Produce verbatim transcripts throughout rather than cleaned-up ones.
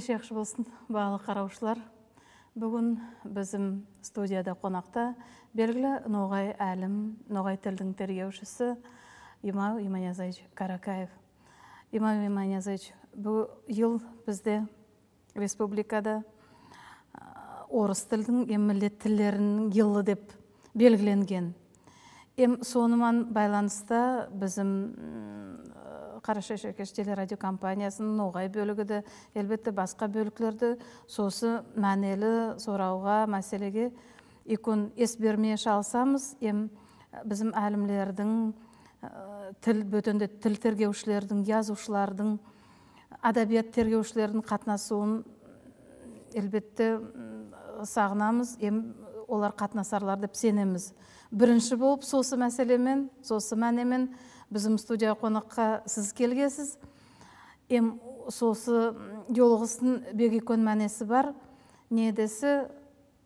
Кеше яқшы болсын, бағалы қараушылар. Бүгін біздің студияда қонақта белгілі Ноғай әлім, Ноғай тілдің тергеушісі Имау Иманиязович Каракаев. Имау Иманиязович, бұл ел бізде республикада орыс тілдің еммілет тілдерінің елі деп белгіленген. Ем сонымен байланысты біздің Қарашаш телерадио компаниясының Ноғай бөлігі де, әлбетте басқа бөліклерді сосы мәнелі сорауға, мәселеге икон ес бермей шалсамыз, ем біздің әлімлердің, тіл бөтенде тіл тергеушілердің, язушылардың, адабият тергеушілердің қатнасуын әлбетте сағынамыз, ем олар қатнасарлар деп сенеміз. Бірінші болып сосы мәселемен, сосы мәнемен біздің студия қонаққа сіз келгесіз. Ем сосы жолғысын бегекон мәнесі бар. Недесі,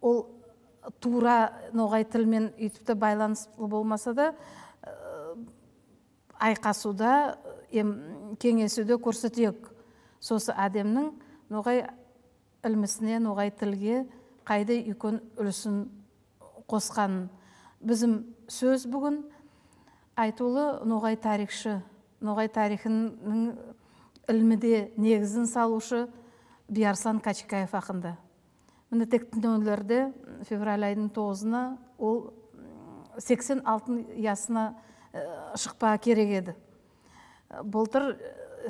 ол тура Ноғай тілмен үйтіпті байланысты болмаса да, айқасуда, ем кеңесуде көрсетек. Сосы әдемнің Ноғай ілмісіне, Ноғай тілге қайды үйкон үлісін қосқанын. Bizim söz bugün айтулы Ноғай тарихшы, Ноғай тарихының ilmide негізін салушы Биарслан Качкаев ақында. Міне тектін өңілерде февраль айының тоғызына ол сексен алты ясына шықпа керек еді. Былтыр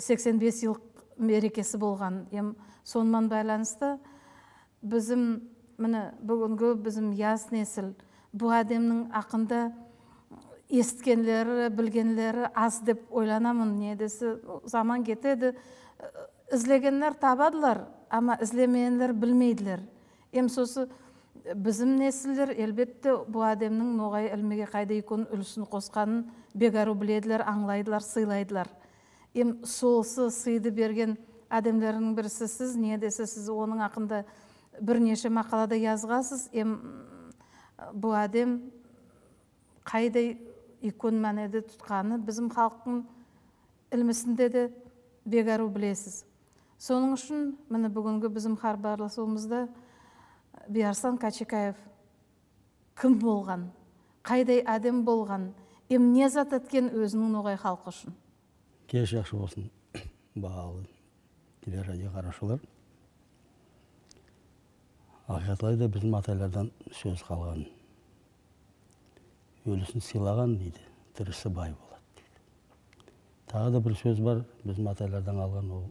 сексен бес жыл мерекесі болған. Ем сонымен байланысты bizim міне бүгінгі bizim яс несіл бұл әдемнің ақында есткенлері, білгенлері аз деп ойланамын. Недесі, заман кетеді, ізлегенлер табадылар, ама ізлемейенлер білмейділер. Ем сосы bizim несілдер, әлбетте бұл әдемнің Ноғай ілмеге қайда екон үлісін қосқанын бегару біледілер, аңлайдылар, сыйлайдылар. Ем солсы сыйды берген әдемлерінің бірісі сіз, недесі, сіз оның ақында бірнеше мақалада yazғасыз. Ем бұл әдем қайдай икон мәнеді тұтқаны біздің халықтың ілмісінде де бегару білесіз. Соның үшін міне бүгінгі біздің хабарласуымызда Биарслан Качкаев кім болған, қайдай әдем болған, ем не зат еткен өзінің Ноғай халқы үшін? Кеш жақсы болсын, бағалы телерадио қараушылар. Ақиқатлайда біздің атайлардан сөз қалған. Өлісін сыйлаған дейді, тірісі бай болады дейді. Тағы да бір сөз бар, біздің атайлардан алған, ол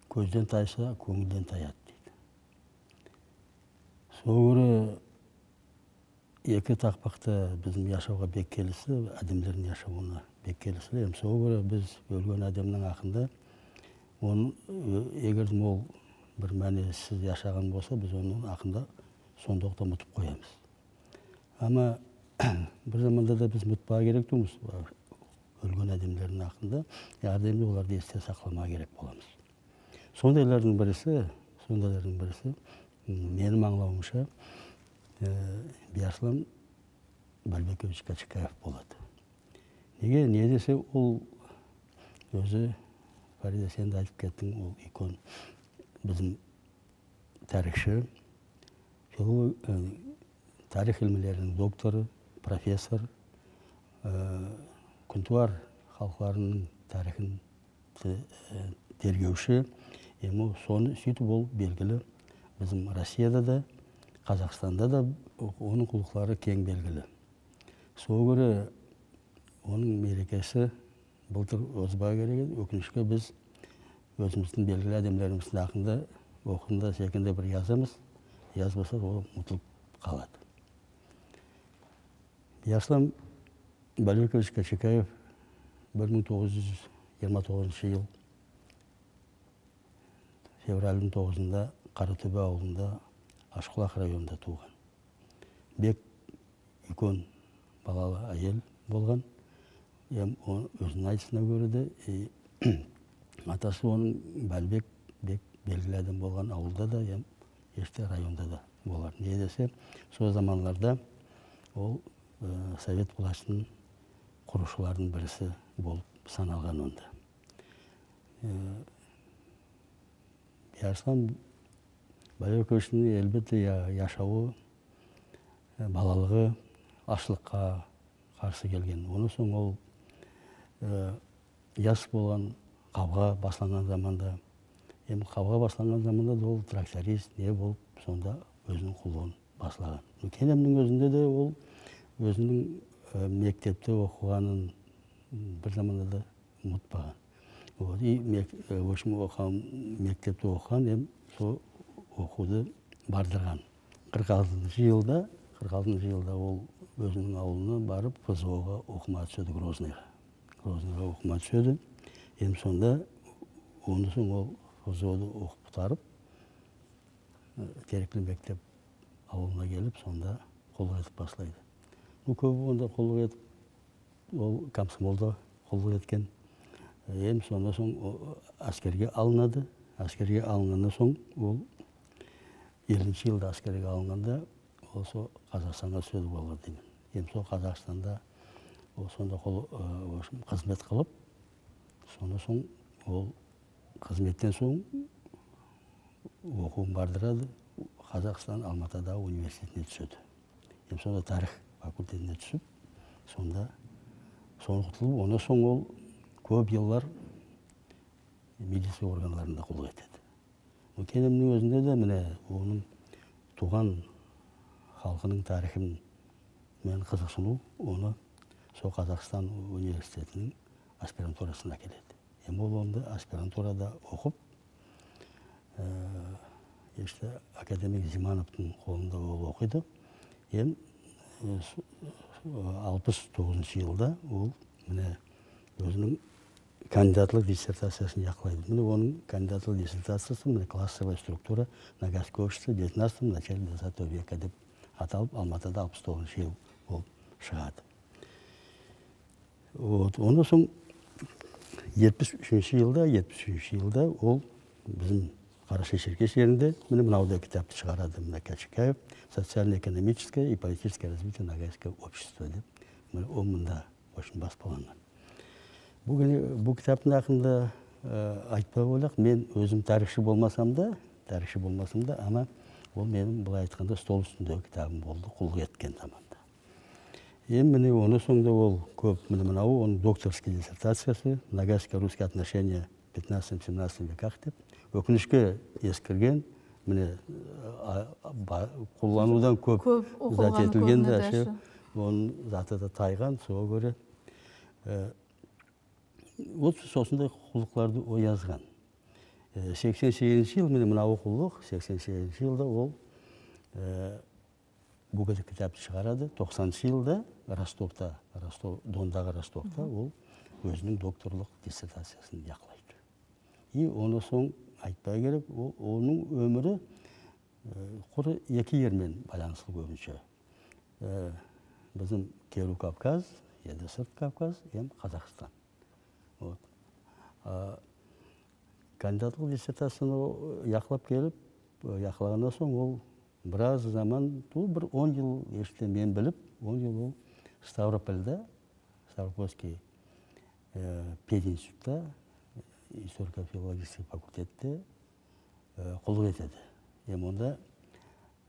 көзден тайса, көңілден таяды дейді. Соғыры екі тақпақты біздің яшауға бек келісі, әдемдердің яшауына бек келісі. Соғыры біз өлген әдемнің ақында, оның егер мол бір мәнесіз яшаған болса, біз оның ақында сондықта мұтып қоямыз. Ама бір заманда да біз мұтпаға керек тұмыз, өлген әдемдердің ақында, әрдемде оларды есте сақлама керек боламыз. Сондайлардың бірісі, сондайлардың бірісі, менің аңлауымша, Биарслан Бальбекович Качкаев болады. Неге, не десе, ол өзі, Фарида, сен де айтып кеттің, ол икон біздің тарихшы, тарих ilmilerinin докторы, профессор, күнтуар халықларының тарихын тергеуші. Ему соны сөйтіп ол белгілі. Bizim Россияда да, Қазақстанда да оның құлықлары кең белгілі. Сол көрі оның мерекесі былтыр озба керек, өкінішке біз өзіміздің белгілі әдемлеріміздің ақында оқында секінде бір yazамыз, yazбаса ол ұмытылып қалады. Биарслан Бальбекович Качкаев бір мың тоғыз жүз жиырма тоғызыншы жыл февральдің тоғызында Қаратөбе ауылында Ашқұлақ районында туған. Бек икон балалы әйел болған. Өзінің айтысына көреді, атасы оның Бәлбек бек белгілі адам болған ауылда да, еште районда да болар. Не десе, сол заманларда ол Совет властының құрушылардың бірісі болып саналған онда. Ярыслан Байөкөштің әлбетте яшауы, балалығы ашлыққа қарсы келген. Оны соң ол яс болған қауға басланған заманда, енді қауға басланған заманда ол тракторист не болып, сонда өзінің құлығын басылаған. Кенемнің өзінде де ол өзінің мектепте оқығанын бір заманда да ұмытпаған. Мектепте оқыған, ем сол оқуды бардырған. қырық алтыншы жылда, қырық алтыншы жылда ол өзінің ауылына барып, ФЗО-ға оқыма түседі, Грозныйға. Грозныйға оқыма түседі. Ем сонда, оны соң ол ФЗО-ды оқып бұтарып, Терекли мектеп ауылына келіп, сонда қолға етіп басылайды. Көбі онда қолға етіп, ол комсомолда қолға еткен. Ем сонда соң әскерге алынады. Әскерге алынғанда соң ол елінші жылда әскерге алынғанда осы Қазақстанға түседі болға деймін. Ем сол Қазақстанда сонда қызмет қылып, сонда соң ол қызметтен соң оқуын бардырады. Қазақстан Алматыда университетіне түседі. Ем сонда тарих факультетіне түсіп, сонда соны құтылып, оны соң ол көп еллар медицина органдарында қолға етеді. Кенемнің өзінде де міне оның туған халқының тарихын мен қызықсыну, оны сол Қазақстан университетінің аспирантурасына келеді. Ем ол онда аспирантурада оқып, академик Зимановтың қолында ол оқиды. Ем алпыс тоғызыншы жылда ол міне өзінің кандидатлық диссертациясын яқылайды. Міне оның кандидатлық диссертациясы міне классовая структура Ногайского общества в девятнадцатом начале двадцатого века деп аталып, Алматыда алпыс тоғызыншы жыл болып шығады. Оны соң жетпіс үшінші жылда, жетпіс үшінші жылда ол біздің Қарашешеркеш жерінде міне мынаудай кітапты шығарады. Міне Кәшікаев «Социально-экономическое и политическое развитие Ногайского общества» деп. Ол мында очень баспаланған. Бұл кітаптың ақында айтпай ойлақ, мен өзім тарихшы болмасам да, тарихшы болмасам да, ама ол менің былай айтқанда стол үстіндегі кітабым болды, құлғы еткен заманда. Ем міне оны соңда ол көп, міне мынау, оның докторский диссертациясы «Ногайско-русские отношения в пятнадцатом-семнадцатом веках» деп. Өкінішке ескірген, міне қолданудан көп зат етілген де, оның заты да тайған, соға көре. Ол сосындай құлықларды о yazған. сексен сегізінші жыл, міне мынау құлық, сексен сегізінші жылда ол бұл кітапты шығарады. тоқсаныншы жылда Ростовта, Дондағы Ростовта ол өзінің докторлық диссертациясын яқылайды. И оны соң айтпай керек, оның өмірі құры екі ермен байланысты көбінше. Біздің Керу Кавказ, еді Сырт Кавказ, ем Қазақстан. Кандидатлық диссертацияны яқылап келіп, яқылағанда соң ол біраз заман, бір он жыл ешті мен біліп, он жыл ол Ставропольда, Ставропольский пединститутта, историко-филологический факультетте қолы етеді. Ем онда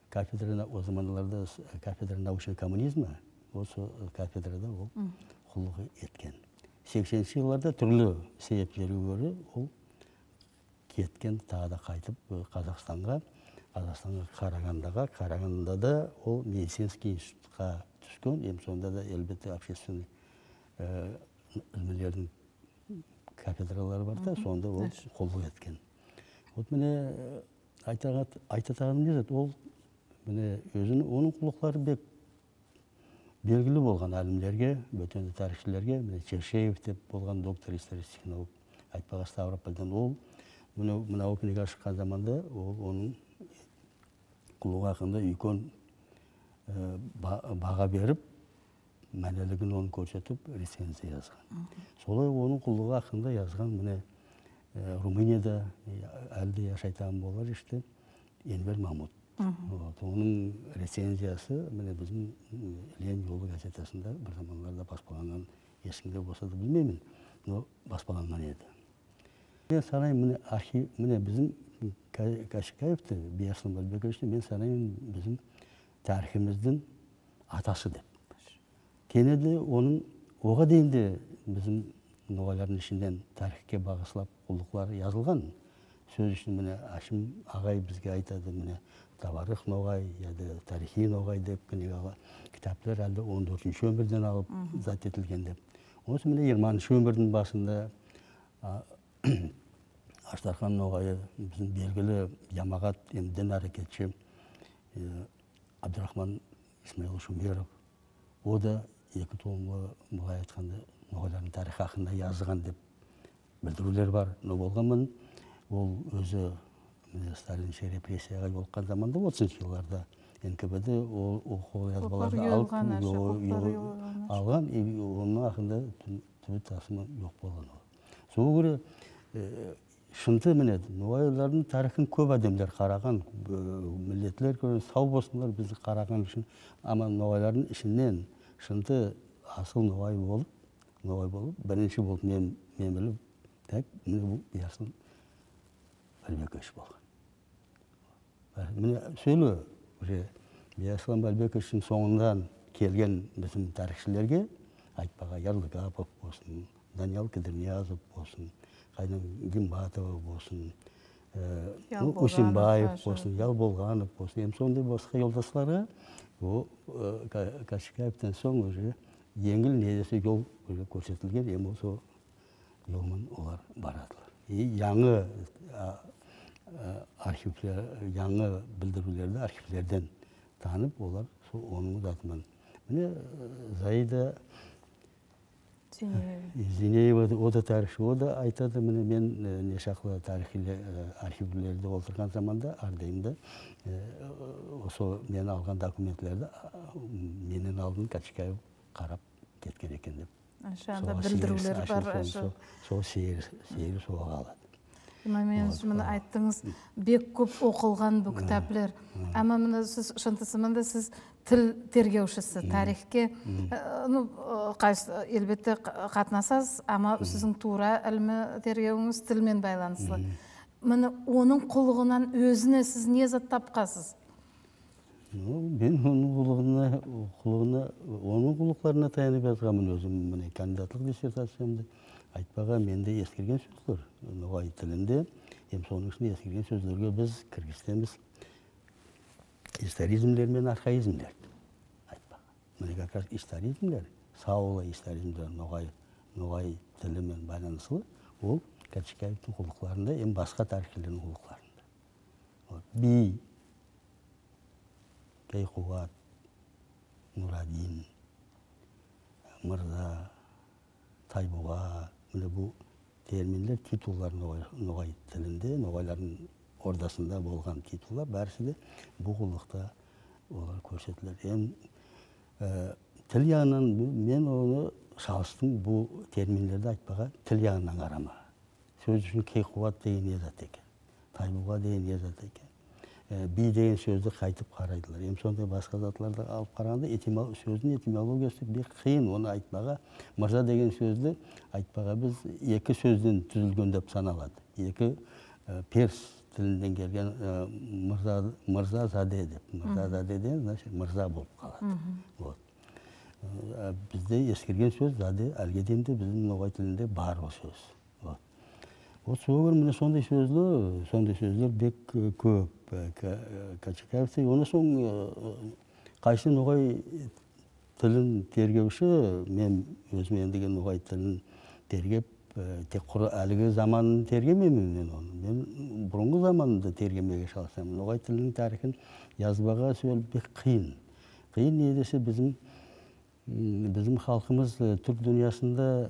кафедрана, о заманларда кафедра научного коммунизма, осы кафедрада ол қолы еткен. сексенінші жылларда түрлі себептері көрі ол кеткен, тағы да қайтып Қазақстанға, Қазақстанға Қарағандыға, Қарағандыда ол медицинский институтқа түскен, ем сонда да әлбетте общественный үлмелердің кафедралары бар да, сонда ол қолы еткен. Вот міне айтатағаным не зат, ол міне өзінің, оның құлықлары бек белгілі болған әлімдерге, бөтенді тарихшілерге, міне Чершеев деп болған доктор исторический наук, айтпаға Ставропольдан ол, мынау книга шыққан заманда, ол оның құлығы ақында үйкон баға беріп, мәнелігін оны көрсетіп, рецензия yazған. Солай оның құлығы ақында yazған, міне Румынияда әлде яшайтаған болар ішті, Енвер Мамут. Оның рецензиясы, міне біздің Лен жолы газетасында бір заманларда баспаланған, есіңде болса да білмеймін, но баспаланған еді. Мен санай, міне біздің Кашикаевті, Бияслан Балбековичті мен санаймын біздің тарихымыздың атасы деп. Кенеде оның оға дейінде біздің ноғайлардың ішінден тарихке бағыслап құлдықлар yazылған. Сөз үшін міне Ашым ағай бізге айтады, міне Табарық ноғай, яды тарихи ноғай деп, кітаптар әлді он төртінші өмірден алып зат етілген деп. Осы міне жиырманыншы өмірдің басында Аштархан ноғайы біздің белгілі Ямағат емден әрекетші Абдурахман Исмаил Шумеров. О да екі томға бұлай айтқанда ноғайлардың тарихы хақында жазған деп білдірулер бар. Но болғанмын, ол өзі Сталинше репрессияға жолыққан заманда отызыншы жылдарда эн ка бэ де ол қолжазбаларды алған, оның ақында түбі тасымы жоқ болған. Сол көре шынты міне, ноғайлардың тарихын көп адамдар қараған, миллетлер сау болсындар бізді қараған үшін, ама ноғайлардың ішінен шынты асыл ноғай болып, ноғай болып, бірінші болып мен біліп, тәк, міне бұл Бияслан Балбекович болған. Міне сөйлі, Бияслан Балбековичтің соңынан келген біздің тарихшілерге, айтпаға Ярлыгапов болсын, Даниял Кідірниязов болсын, Қайным Гимбатова болсын, Усимбаев болсын, Ялболғанов болсын, ем сондай басқа жолдасларға, Кашикаевтен соң еңіл недесі жол көрсетілген, ем осы жолмен олар барадылар. Яңы архивлер, яңы білдірулерді архивлерден танып, олар оның затымен. Міне Заида Зинеева, о да тарихшы, о да айтады, міне мен нешақлы тарихи архивлерді олтырған заманда, ардайымда, осы мен алған документлерді менен алдын Кашикаев қарап кеткен екен деп. Шанда білдірулер бар. Сол сейір соға алады. Мен мені айттыңыз, бек көп оқылған бұл кітаплер. Әмі мені сіз шынтысымында сіз тіл тергеушісі, тарихке елбетті қатынасыз, ама сіздің тура әлімі тергеуіңіз тілмен байланыслы. Мені оның құлығынан өзіне сіз не зат тапқасыз? Мен оның құлығына, оның құлықларына таянып жазғамын өзім, міне кандидатлық диссертациямды айтпаға менде ескерген сөздер, ноғай тілінде, ем соның ішінде ескерген сөздерге біз кіргізтеміз историзмлер мен архаизмлер айтпаға. Міне как раз историзмлер, саулы историзмлер ноғай тілімен байланыслы, ол Кашикаевтың құлықларында, ем басқа тарихшілердің құлықларында. Би, Кейқуат, Нурадин, Мырза, Тайбуға, міне бұл терминдер, титуллар ноғай тілінде, ноғайлардың ордасында болған титуллар, бәрісі де бұл құлықта олар көрсетілер. Тіл жағынан мен оны шалыстың бұл терминдерді айтпаға тіл жағынан қарама. Сөз үшін Кейқуат деген езат екен, Тайбуға деген езат екен. Би деген сөзді қайтып қарайдылар. Ем сондай басқа затларды алып қарағанда сөздің этимологиясы бек қиын, оны айтпаға. Мырза деген сөзді айтпаға біз екі сөзден түзілген деп саналады. Екі перс тілінден келген мырза заде деп. Мырза заде деген мырза болып қалады. Бізде ескерген сөз заде, әлге дейінде біздің ноғай тілінде бар ол сөз. Осы өңір міне сондай сөзлі, сондай сөзлер бек көп Кашикаевты. Оны соң қайсы ноғай тілін тергеуші, мен өзіме ендеген ноғай тілін тергеп, тек құры әлігі заманын тергемеймін мен оны. Мен бұрынғы заманында тергемеге шалсам. Ноғай тілінің тарихын жазбаға сөйл бек қиын. Қиын не десе біздің халқымыз түрк дүниясында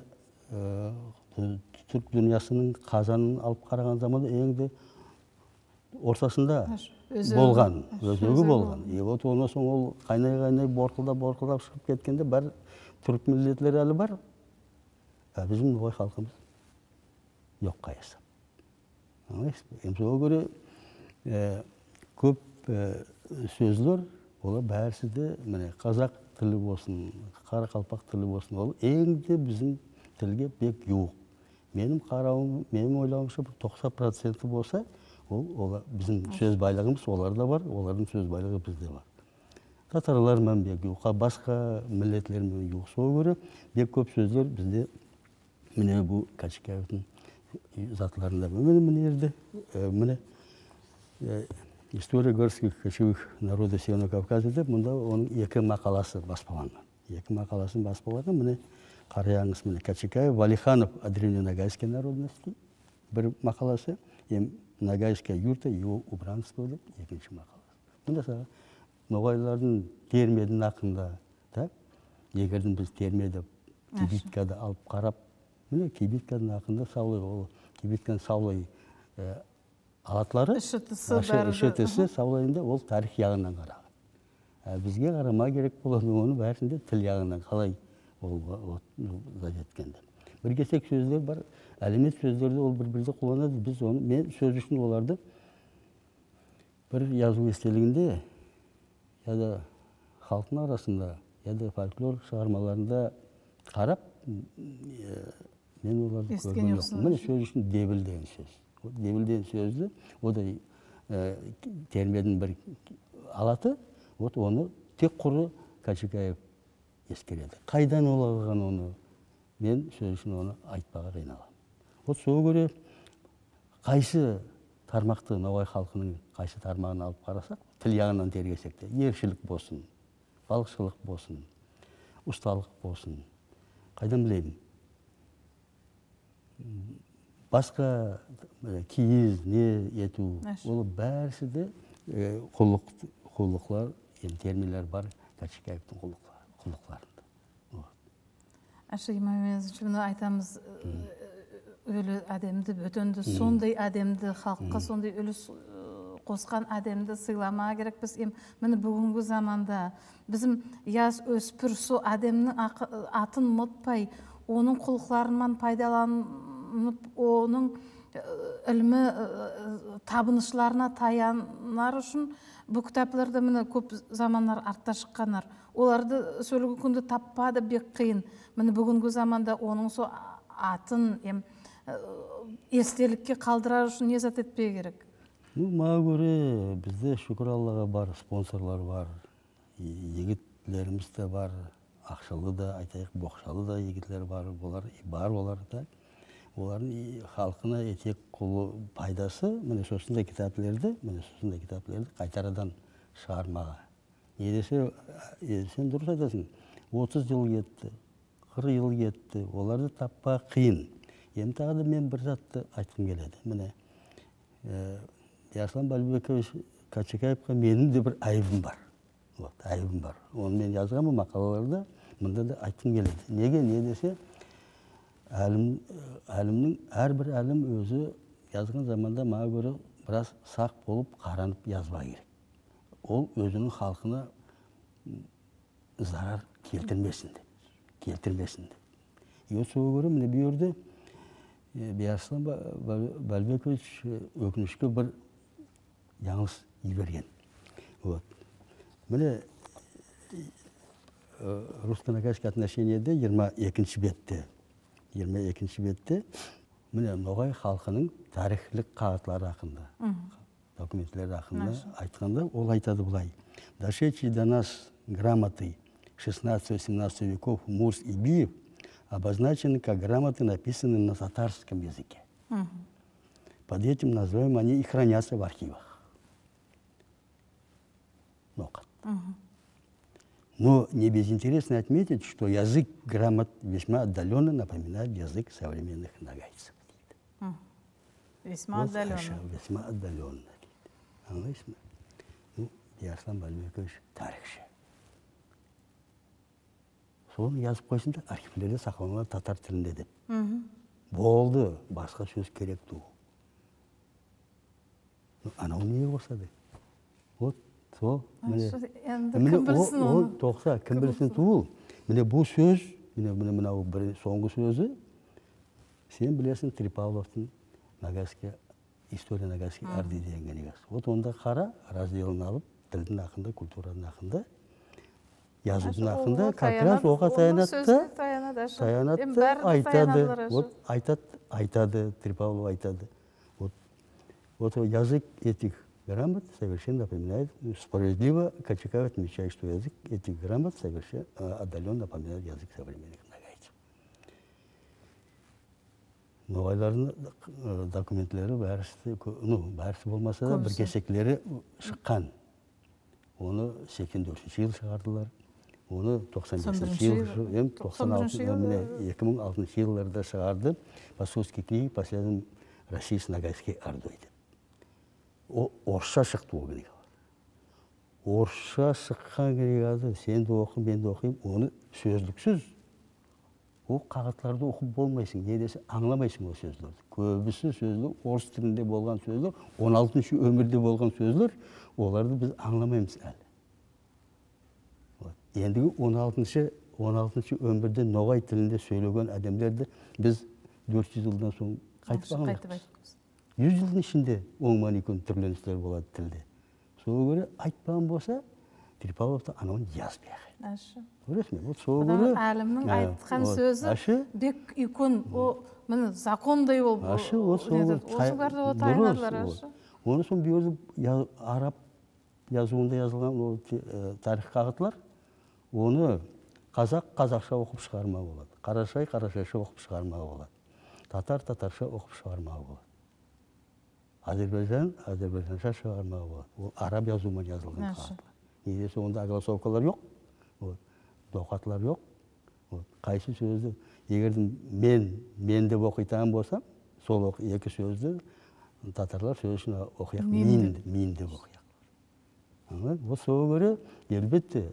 түрк дүниясының қазанын алып қараған заманда еңді ортасында болған, өзегі болған. Вот онан соң ол қайнай-қайнай борқылдап-борқылдап шығып кеткенде бар түрк миллетлер әлі бар. Біздің ноғай халқымыз жоқ қайысы. Емсоға көре көп сөзлер, олар бәрісі де қазақ тілі болсын, қарақалпақ тілі болсын, ол еңді біздің тілге бек юқ. Менің қарауым, менің ойлауымша тоқсан проценті болса, Ол біздің сөз байлығымыз оларда бар, олардың сөз байлығы бізде бар. Татарлармен бек юқа, басқа миллетлермен юқсуы көрі, бек көп сөздер бізде міне бұл Качикаевтың затларында. Міне ерді, міне история горских кочевых народов Северного Кавказа деп, мұнда оның екі мақаласы баспаланған. Екі мақаласын баспаланған, міне қараяңыз, міне Качикаев, Валиханов о древненогайской народности, бір мақаласы, ем Ногайская юрта, его убранство деп, екінші мақаласы. Мұнда саға ноғайлардың термедің ақында, егердің біз термеді кибиткада алып қарап, міне кибитканың ақында саулай, ол кибитканың саулай алатлары, ішітісі саулайында ол тарих яғынан қараған. Бізге қарама керек болады, оның бәрісінде тіл яғынан қалай ол жеткенде. Bir kesek sözler var, әлемет сөздерді ол бір-бірді қолданады. Біз оны, мен сөз үшін оларды бір жазу естелігінде, я да халқың арасында, я да фольклор шығармаларында қарап, мен оларды көрген жоқпын. Міне сөз үшін дебіл деген сөз. Дебіл деген сөзді, о да термедің бір алаты, оны тек құры Качикаев ескереді. Қайдан олаған оны? Мен сөз үшін оны айтпаға қиналам. От соғы көре қайсы тармақты ноғай халқының қайсы тармағын алып қарасақ, тіл жағынан тергесек те, ершілік болсын, балықшылық болсын, ұсталық болсын, қайдан білеймін. Басқа киіз, не ету, ол бәрісі де құлықлар, термиялар бар Качикаевтың құлықларында. Ашы имамезович, айтамыз, өлі әдемді, бөтенді, сондай әдемді, халыққа сондай үліс қосқан әдемді сыйлама керек. Біз мені бүгінгі заманда біздің яз өспір со әдемнің атын ұмытпай, оның құлықларынан пайдаланып, оның ілімі табынышыларына таянар үшін бұл кітапларды мені көп заманлар артта шыққанар. Оларды сөйлігі күнді таппады бек қиын. Мені бүгінгі заманда оның со атын естелікке қалдырар үшін не зат етпей керек? Маға көре бізде шүкір Аллаға бар, спонсорлар бар, егітлеріміз де бар, ақшалы да, айтайық, боқшалы да егітлер бар, бар олар да. Олардың халқына етек құлы пайдасы, міне сосында кітаплерді, міне сосында кітаплерді қайтарадан шығармаға. Едесе, сен дұрыс айтасың, отыз жыл кетті, қырық жыл кетті, оларды таппа қиын. Ем тағы мен бір затты айтқым келеді. Міне, Яслан Балбекович Качикаевқа менің де бір айыбым бар. Айыбым бар. Оны мен жазғанмын мақалаларда, мұнда да айтқым келеді. Неге, не десе, әлімнің әрбір әлім өзі жазған заманда маға көрі біраз сақ болып қаранып жазба керек. Ол өзінің халқына зарар келтірмесінде, келтірмесінде. Ел соғы көрі, міне бір өрде Яслан Балбекович өкінішке бір жаңылыс еберген. Міне русско-ногайский отношениеде жиырма екінші бетте, жиырма екінші бетте, міне ноғай халқының тарихлік қағатлары ақында, документлері ақында айтқанда, ол айтады бұлай. Дошедшие до нас грамоты шестнадцатого-семнадцатого веков Мурс и Биев обозначены как грамоты, написанные на татарском языке. Под этим названием они и хранятся в архивах. Но не безинтересно отметить, что язык грамот весьма отдаленно напоминает язык современных ногайцев. Весьма отдаленно. Весьма отдаленно. Анлайсыз мı? Ну, Яслан Балбекович тарихшы. Соны yazып қойсын да, архивлерде сақланған татар тілінде деп. Болды, басқа сөз керек ту. Анау не қосады? Вот, сол. Кім білсін оны? Тоқса, кім білсін туыл. Міне бұл сөз, міне мынау соңғы сөзі, сен білесің Трипавловтың Ногайский, история Ногайский арды деген негіз. Вот онда қара, разделін алып, тілдің ақында, культураның ақында, yazıdın hakkında kapbiraz oğa tayanatты, tayanatты, aytadı, aytadı, aytadı, Tripavlov aytadı. Вот язык этих грамот совершенно напоминает, справедливо Качакаев отмечает, что язык этих грамот совершенно отдаленно напоминает язык современных нагайцев. Ноғайлардың документлері бәрісі, ну, бәрісі болмаса да, бір кесеклері шыққан. Оны сексен төртінші жыл шығардылар. Оны тоқсан бесінші жыл, тоқсан алтыншы, екі мың алтыншы жылдарда шығарды. Московский книги последним российский нагайский ордой деп. Орысша шықты ол книга. Орысша шыққан книгады сен де оқы, мен де оқимын, оны сөздіксіз. Ол қағатларды оқып болмайсың, не десе аңламайсың ол сөздерді. Көбісі сөздер, орыс тілінде болған сөздер, он алтыншы өмірде болған сөздер, оларды біз аңламаймыз әлі. Ендігі он алтыншы өмірде ноғай тілінде сөйлеген әдемдерді біз төрт жүз жылдан соң қайтып аңлаймыз. жүз жылдың ішінде оңман екен түрленістер болады тілде. Сол көре айтпаған болса, Трипаловта анауын жазбай ағай. Көресің бе? Сол көре әлімнің айтқан сөзі бек икон, міне закондай ол. Ашы, ол сол осыларды ол тайнарлар ашы. Оны сон бүйірді араб yazуында жазылған тарих қағытылар, оны қазақ қазақша оқып шығармау болады. Қарашай қарашайша оқып шығармау болады. Татар татарша оқып шығармау болады. Азербайжан азербайжанша шығармау болады. Ол араб жазуымен жазылған қағытылар. Недесе онда огласовкалар жоқ, доқатлар жоқ. Қайсы сөзді, егердің мен, мен деп оқитан болсам, сол екі сөзді татарлар сөзін оқияқ, мен деп оқияқ. Ол сол көре, елбетті,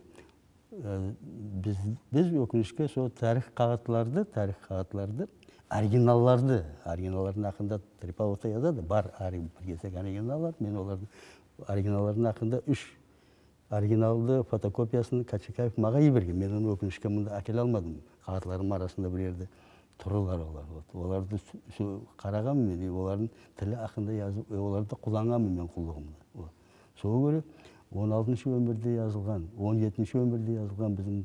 біз өкінішке сол тарих қағатыларды, тарих қағатыларды, оригиналларды, оригиналлардың ақында Трипаловта язады, бар бір кесек оригиналлар, мен олардың оригиналлардың ақында үш оригиналды фотокопиясын Качакаев маға еберген. Мен оны өкінішке мұнда әкеле алмадым. Қағатларым арасында бір ерді тұрылар олар. Оларды қараған мен, олардың тілі ақында yazып, оларды құланған мен құлығымда. Сол көре он алтыншы өмірде жазылған, он жетінші өмірде жазылған біздің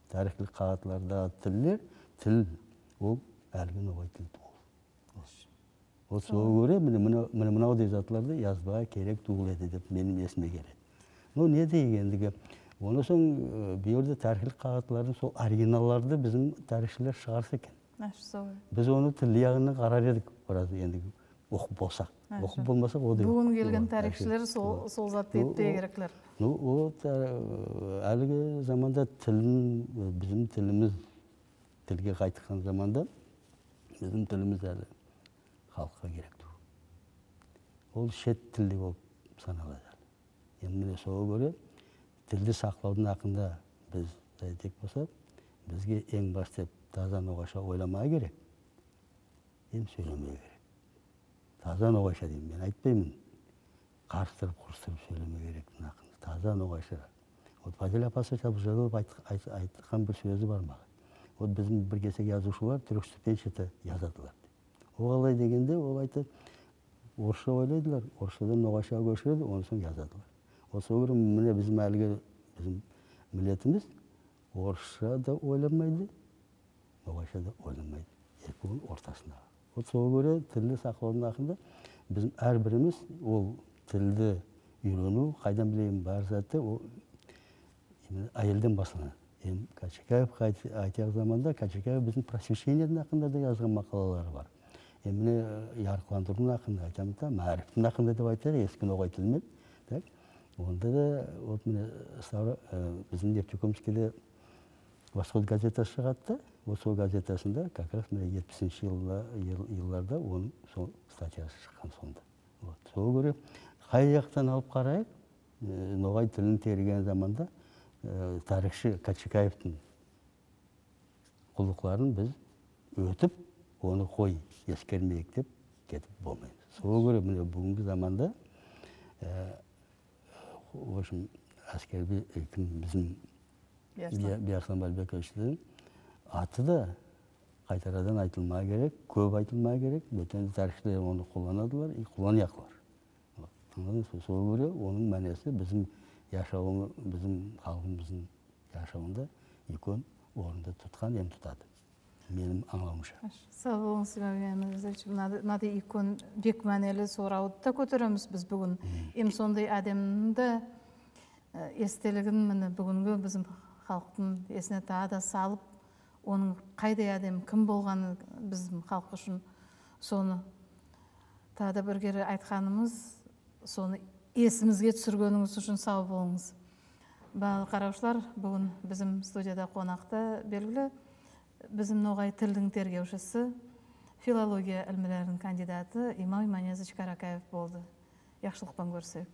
тарихлық қағатларда тілдер, тіл ол әлгі ноғай тіл тұғыл. Ол сол көре мынау дезатларды жазбаға керек тұғыл еді деп менің есіме келеді. Но не дегендігі, оны соң бүйірді тарихлық қағатлардың сол оригиналларды біздің тарихшылар шығарса екен. Біз оны тілі яғынан қарар едік, біраз ендігі оқып болсақ. Оқып болмасақ, о да бүгін келген тарихшылар сол затты етпей кереклер. Әлгі заманда тілін, біздің тіліміз, тілге қайтыққан заманда, біздің тіліміз әлі халыққа керекті. Ол шет тілді болып саналады. Енді сол көре, тілді сақлаудың ақында біз айтек болсақ, бізге ең бастап таза ноғайша ойламай керек, ем сөйлемей керек. Таза ноғайша деймін, мен айтпаймын, қарыстырып, құрыстырып сөйлемей керек. Таза ноғайша. Фазил апасы Шабжалов айтқан бір сөзі бар маған. Біздің бір кесек жазушылар түрік ступеншеті жазадылар. Ол қалай дегенде, ол айтты, орысша ойлайдылар, орысшадан ноғайша көшіреді, оны соң жазадылар. Осы көрі міне біздің әлгі біздің милетіміз орысша да ойламайды, ноғайша да ойламайды. Екеуінің ортасында. Осы көрі тілді сақлаудың ақында біздің әрбіріміз ол тілді үйрену, қайдан білейін бар заты, ол әйелден басылады. Качакаев айтақ заманда Качакаев біздің просвещениедің ақында да жазған мақалалары бар. Міне ярқыландырудың ақында айтамын, мәріптің ақында деп айтады, ескі ноғай тілмен. Онда да біздің Нефтекумскіде Восход газетасы шығатты. Восход газетасында как раз жетпісінші жылларда оның статьясы шыққан сонда. Сол көре қай жақтан алып қарайық, ноғай тілін терген заманда тарихшы Качакаевтың құлықларын біз өтіп, оны қой ескермейік деп кетіп болмаймыз. Сол көре бүгінгі заманда в общем, әскербе біздің Бияслан Бәлбековичтің аты да қайтарадан айтылмай керек, көп айтылмай керек, бөтен тарихшылар оны қолданадылар, қоланияқылар. Сол көре оның мәнесі біздің яшауы, біздің халқымыздың яшауында үлкен орынды тұтқан, ем тұтады. менің аңлауымша. Сау болыңыз, Имамиян Мырзаевич. Мынады икон бек мәнелі сұрауды да көтереміз біз бүгін. Ем сондай әдемді естелігін міне бүгінгі біздің халықтың есіне тағы да салып, оның қайдай әдем кім болғаны біздің халық үшін соны тағы да бір кері айтқанымыз, соны есімізге түсіргеніңіз үшін сау болыңыз. Бағалы қараушылар, бүгін біздің студияда қонақта белгілі біздің ноғай тілдің тергеушісі, филология ілімдерінің кандидаты Имам Иманияз Каракаев болды. Яқшылықпен көрсек.